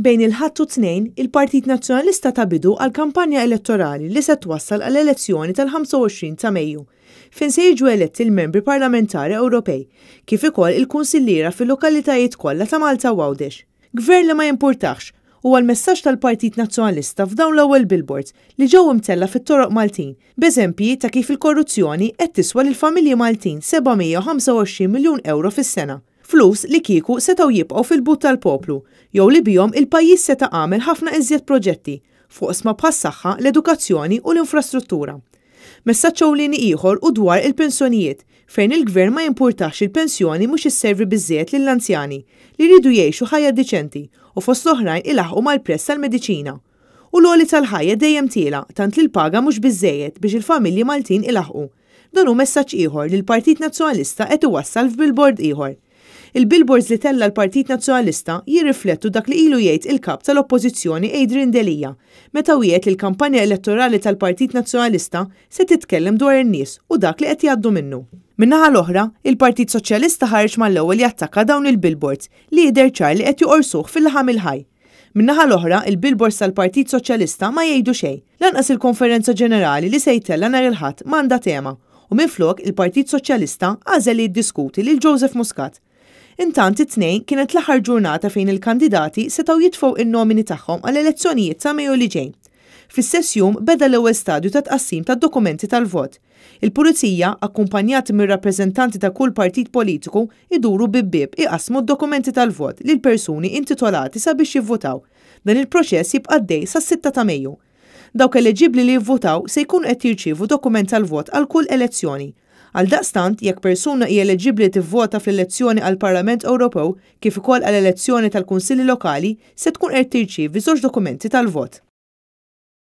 Bejn il-Ħadd u t-Tnejn, il-Partit Nazzjonalista ta bidu għal kampanja elettorali li se twassal għall-elezzjoni tal-25 ta' Mejju, fejn se jiġu eletti l-Membri Parlamentari Ewropej, kif ukoll il-kunsilliera fil-lokalitajiet kollha ta' Malta u Għawdex. Gvern li ma jimpurtahx, huwa l-messaġġ tal-Partit Nazzjonalista f'dawn l-ewwel billboards li ġew imtellgħa fit-toroq Maltin, b'eżempji ta' kif il-korruzzjoni qed tiswa lill-familji Maltin 725 miljun ewro fis-sena. Flus li kieku setgħu jibqgħu fil-but tal-poplu jew li bihom il-pajjiż seta' għamel ħafna iżjed proġetti f'oqsma bħas-saħħa, l-edukazzjoni u l-infrastruttura. Messaġġ ewlieni ieħor hu dwar il-pensjonijiet fejn il-Gvern ma jimpurtahx il-pensjoni mhux isservi biżżejjed lill-anzjani li jridu jgħixu ħajja diċenti u fost l-oħrajn ilaħħqu mal-prezz tal-mediċina. U l-għoli tal-ħajja dejjem tiela' tant li l-paga mhux biżżejjed biex il-familji Maltin ilaħħqu. Dan hu messaġġ ieħor li l-Partit Nazzjonalista qed iwassal f'billboard ieħor. Il-billboards li tella' l-Partit Nazzjonalista jirriflettu dak li ilu jgħid il-Kap tal-Oppożizzjoni Adrian Delia meta wiegħed li l-kampanja elettorali tal-Partit Nazzjonalista se titkellem dwar in-nies u dak li qed jgħaddu minnu. Min-naħa l-oħra, il-Partit Soċjalista ħareġ mal-ewwel jattakka dawn il-billboards li jidher ċar li qed joqorsuh fil-laħam il-ħaj. Min-naħa l-oħra, il-billboards tal-Partit Soċjalista ma jgħidu xejn. Lanqas il-konferenza ġenerali li se jtella' nhar il-Ħadd ma għandha tema u minflok il-Partit Soċjalista għażel li jiddiskuti lil Joseph Muscat. Intant it-Tnejn kienet l-aħħar ġurnata fejn il-kandidati setgħu jitfgħu in-nomini tagħhom għall-elezzjonijiet ta' Mejju li ġej. Fl-istess jum beda l-ewwel stadju ta' tqassim tad-dokumenti tal-vot. Il-Pulizija, akkumpanjati mir-rappreżentanti ta' kull partit politiku, iduru bieb bieb iqassmu d-dokumenti tal-vot lil persuni intitolati sabiex jivvutaw. Dan il-proċess jibqa' għaddej sas-sitta ta' Mejju. Dawk eleġibbli li jivvutaw se jkunu qed jirċievu dokument tal-vot għal kull elezzjoni. Għaldaqstant, jekk persuna hi eleġibbli li tivvota fl-elezzjoni għall-Parlament Ewropew kif ukoll għall-elezzjoni tal-Kunsilli Lokali, se tkun qed tirċievi żewġ dokumenti tal-vot.